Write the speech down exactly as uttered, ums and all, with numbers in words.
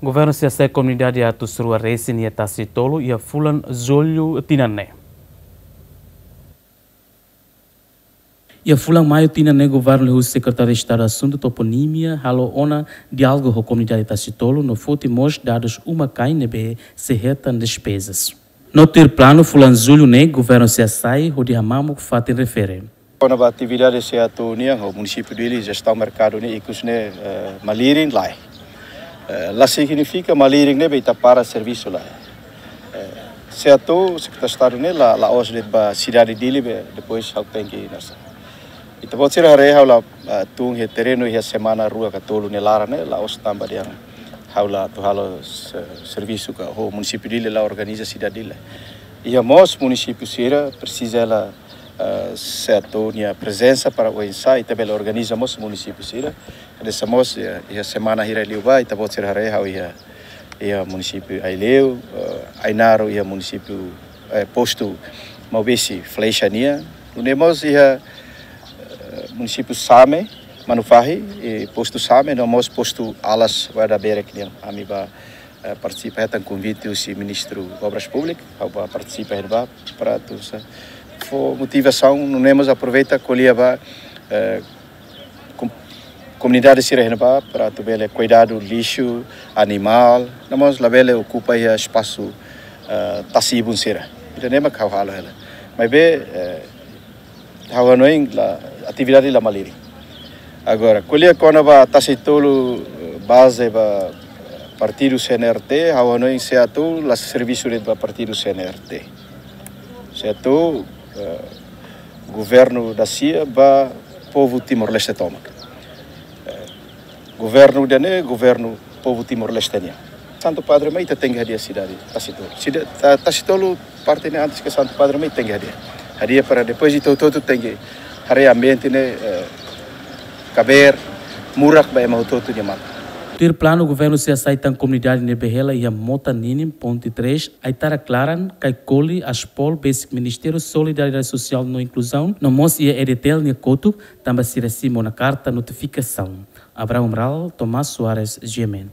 Governu sei hasai komunidade atus rua resin iha Tasi Tolu iha fulan Jullu tinan ne'e. Iha fulan Maiu tinan ne'e, Governu liuhusi Sekretáriu Estadu Asuntu Toponímia halo ona diálogu ho komunidade Tasi Tolu no foti mós dadus uma-kain ne'ebé sei hetan despezas. No tuir planu, fulan Jullu ne'e Governu sei hasai hodi hamamuk fatin refere. Kona-ba atividade SEATOU nian ho munisípiu Dili, jestaun merkadu ne'e ikus ne'e, eh, malirin, lae. Eh, la signifika malirin ne'e be ita para servisu, lae. Eh, SEATOU, Sekretáriu Estadu ne'e la, la'ós de'it ba sidade Dili be depois ha'u tenke nasa. Ita-boot sira haree ha'u la, ah, tun iha terrenu iha semana rua ka tolu nia laran ne'e, la'ós tanba dehan ha'u la atu halo se-, servisu ka ho munisípiu Dili, la organiza sidade Dili. Iha mós munisípiu sira presiza hela, ah, SEATOU nia prezensa para oinsá ita bele organiza mós munisípiu sira. Hanesan mós iha, iha semana hirak liubá, ita-boot sira haree ha'u iha, iha munisípiu Aileu, eh, Ainaro iha munisípiu, eh, postu Maubesi, Flecha nian. Nune'e mós iha, eh, munisípiu Same, Manufahi, eh, postu Same, no mós postu Alas, Guarda Berek nian. Ami bá, eh, partisipa, hetan konvite husi Ministru Obras Públikas, ha'u bá partisipa iha ne'ebá, para atu sa-, fó motivasaun, nune'e mós aproveita ko'alia ba, eh, kom-, komunidade sira iha ne'ebá, para atu bele kuidadu lixu, animál, no mós labele okupa iha espasu, eh, tasi-ibun sira. Ida-ne'e mak ha'u halo hela. Maibé, eh, ha'u hanoin la, atividade la malirin. Agora, ko'alia kona-ba Tasi Tolu, eh, baze ba partidu C N R T, ha'u hanoin SEATOU la servisu de'it ba partidu C N R T. SEATOU, eh, governu dasia ba povu Timor-Leste tomak. Eh, governu ida-ne'e, governu povu Timor-Leste nian. Santu Padre mai ita tenke hadi'a sidade Tasi Tolu. Sida-, Ta-, Tasi Tolu parte ne'e antes ke Santu Padre mai tenke hadi'a. Hadi'a para depois ita hotu-hotu tenke haree ambiente ne'e, eh, kabeer, murak ba ema hotu-hotu nia matan. Tuir planu, Governu sei hasai tan komunidade ne'ebé hela iha mota ninin, ponte três, Aitarak Laran, Kaikoli, Aspol, besik Ministériu Solidariedade Sosiál no Inkluzaun, no mós iha EDTL nia kotuk, tanba sira simu ona karta notifikasaun. Abraham Amaral, Tomás Soares, G M N.